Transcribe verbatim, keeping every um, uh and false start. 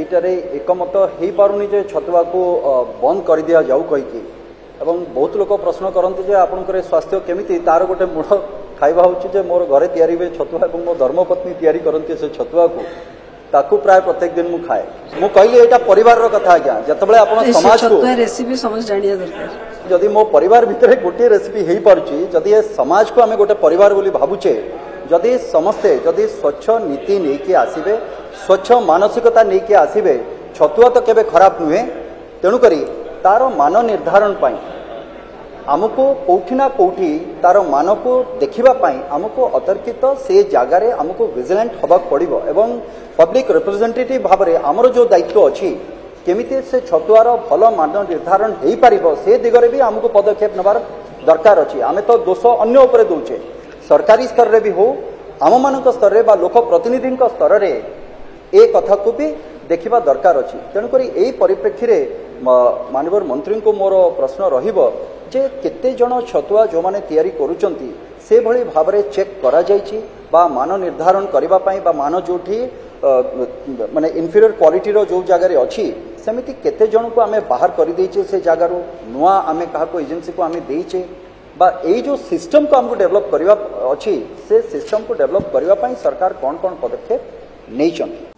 ଏଇଟାରେ ଏକମତ ହେଇପାରୁନି ଯେ ଛତୁଆକୁ ଅ, ବନ୍ଦ କରିଦିଆଯାଉ କହିକି। ଏବଂ ବହୁତ ଲୋକ ପ୍ରଶ୍ନ କରନ୍ତି ଯେ ଆପଣଙ୍କର ଏ ସ୍ୱାସ୍ଥ୍ୟ କେମିତି? ତାର ଗୋଟେ ମୂଳ ଖାଇବା ହେଉଛି ଯେ ମୋର ଘରେ ତିଆରି ହୁଏ ଛତୁଆ ଏବଂ ମୋ ଧର୍ମପତ୍ନୀ ତିଆରି କରନ୍ତି ସେ ଛତୁଆକୁ, ତାକୁ ପ୍ରାୟ ପ୍ରତ୍ୟେକ ଦିନ ମୁଁ ଖାଏ। ମୁଁ କହିଲି ଏଇଟା ପରିବାରର କଥା ଆଜ୍ଞା। ଯେତେବେଳେ ଆପଣ ସେ ସମାଜକୁ ଛତୁଆ ରେସିପି ସମସ୍ତେ ଜାଣିବା ଦରକାର। ଯଦି ମୋ ପରିବାର ଭିତରେ ଗୋଟିଏ ରେସିପି ହେଇପାରୁଛି, ଯଦି ଏ ସମାଜକୁ ଆମେ ଗୋଟେ ପରିବାର ବୋଲି ଭାବୁଛେ, ଯଦି ସମସ୍ତେ ଯଦି ସ୍ୱଚ୍ଛ ନୀତି ନେଇକି ଆସିବେ, ସ୍ୱଚ୍ଛ ମାନସିକତା ନେଇକି ଆସିବେ, ଛତୁଆ ତ କେବେ ଖରାପ ନୁହେଁ। ତେଣୁକରି ତାର ମାନ ନିର୍ଦ୍ଧାରଣ ପାଇଁ ଆମକୁ କୋଉଠି ନା କୋଉଠି ତାର ମାନକୁ ଦେଖିବା ପାଇଁ ଆମକୁ ଅତର୍କିତ ସେ ଜାଗାରେ ଆମକୁ ଭିଜିଲାଣ୍ଟ ହେବାକୁ ପଡ଼ିବ ଏବଂ ପବ୍ଲିକ ରିପ୍ରେଜେଣ୍ଟେଟିଭ ଭାବରେ ଆମର ଯେଉଁ ଦାୟିତ୍ୱ ଅଛି, କେମିତି ସେ ଛତୁଆର ଭଲ ମାନ ନିର୍ଦ୍ଧାରଣ ହେଇପାରିବ ସେ ଦିଗରେ ବି ଆମକୁ ପଦକ୍ଷେପ ନେବାର ଦରକାର ଅଛି। ଆମେ ତ ଦୋଷ ଅନ୍ୟ ଉପରେ ଦେଉଛେ। ସରକାରୀ ସ୍ତରରେ ବି ହଉ, ଆମମାନଙ୍କ ସ୍ତରରେ ବା ଲୋକ ପ୍ରତିନିଧିଙ୍କ ସ୍ତରରେ ଏ କଥାକୁ ବି ଦେଖିବା ଦରକାର ଅଛି। ତେଣୁକରି ଏଇ ପରିପ୍ରେକ୍ଷୀରେ ମାନ୍ୟବର ମନ୍ତ୍ରୀଙ୍କୁ ମୋର ପ୍ରଶ୍ନ ରହିବ ଯେ କେତେ ଜଣ ଛତୁଆ ଯେଉଁମାନେ ତିଆରି କରୁଛନ୍ତି ସେଭଳି ଭାବରେ ଚେକ୍ କରାଯାଇଛି ବା ମାନ ନିର୍ଦ୍ଧାରଣ କରିବା ପାଇଁ ବା ମାନ ଯେଉଁଠି ଅ, ମାନେ ଇନଫିରିୟର କ୍ୱାଲିଟିର ଯେଉଁ ଜାଗାରେ ଅଛି, ସେମିତି କେତେ ଜଣଙ୍କୁ ଆମେ ବାହାର କରିଦେଇଛେ ସେ ଜାଗାରୁ, ନୂଆ ଆମେ କାହାକୁ ଏଜେନ୍ସିକୁ ଆମେ ଦେଇଛେ ବା ଏଇ ଯେଉଁ ସିଷ୍ଟମକୁ ଆମକୁ ଡେଭଲପ୍ କରିବା ଅଛି, ସେ ସିଷ୍ଟମକୁ ଡେଭଲପ୍ କରିବା ପାଇଁ ସରକାର କ'ଣ କ'ଣ ପଦକ୍ଷେପ ନେଇଛନ୍ତି?